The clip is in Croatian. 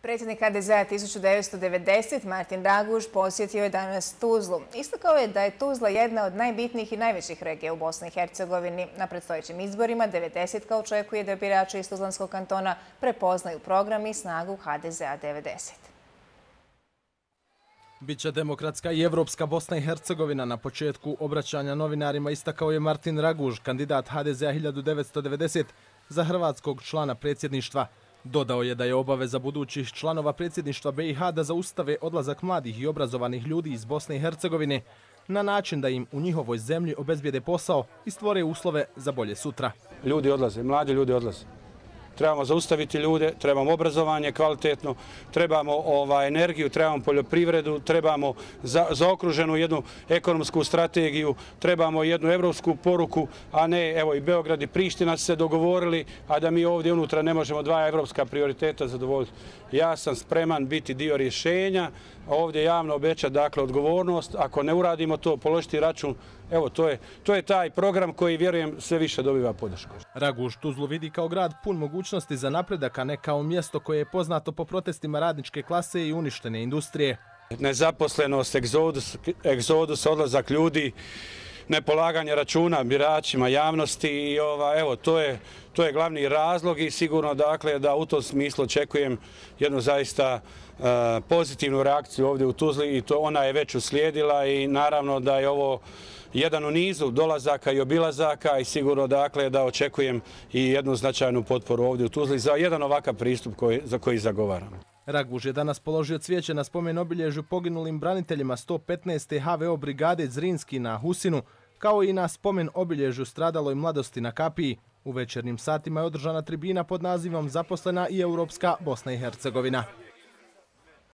Predsjednik HDZ-a 1990. Martin Raguž posjetio je danas Tuzlu. Istakao je da je Tuzla jedna od najbitnijih i najvećih regija u Bosni i Hercegovini. Na predstojećim izborima 90 očekuje da birači iz Tuzlanskog kantona prepoznaju program i snagu HDZ-a 90. Biće demokratska i evropska Bosna i Hercegovina. Na početku obraćanja novinarima istakao je Martin Raguž, kandidat HDZ-a 1990 za hrvatskog člana predsjedništva. Dodao je da je obaveza budućih članova predsjedništva BiH da zaustave odlazak mladih i obrazovanih ljudi iz Bosne i Hercegovine na način da im u njihovoj zemlji obezbijede posao i stvore uslove za bolje sutra. Ljudi odlaze, mladi ljudi odlaze. Trebamo zaustaviti ljude, trebamo obrazovanje kvalitetno, trebamo energiju, trebamo poljoprivredu, trebamo zaokruženu jednu ekonomsku strategiju, trebamo jednu evropsku poruku, a ne, evo i Beograd i Priština su se dogovorili, a da mi ovdje unutra ne možemo dva evropska prioriteta zadovoljiti. Ja sam spreman biti dio rješenja, ovdje javno obećati, dakle, odgovornost. Ako ne uradimo to, položiti račun, evo, to je taj program koji, vjerujem, sve više dobiva podršku. Raguž Tuzlu vidi kao grad pun mogućnosti za napredak, a ne kao mjesto koje je poznato po protestima radničke klase i uništene industrije. Nezaposlenost, egzodus, odlazak ljudi, nepolaganje računa biračima, javnosti i evo, to je glavni razlog i sigurno, dakle, da u tom smislu očekujem jednu zaista pozitivnu reakciju ovdje u Tuzli i ona je već uslijedila i naravno da je ovo jedan u nizu dolazaka i obilazaka i sigurno, dakle, da očekujem i jednu značajnu potporu ovdje u Tuzli za jedan ovakav pristup za koji zagovaram. Raguž je danas položio cvijeće na spomen obilježju poginulim braniteljima 115. HVO brigade Zrinski na Husinu, kao i na spomen obilježju stradaloj mladosti na Kapiji. U večernjim satima je održana tribina pod nazivom Zaposlena i Europska Bosna i Hercegovina.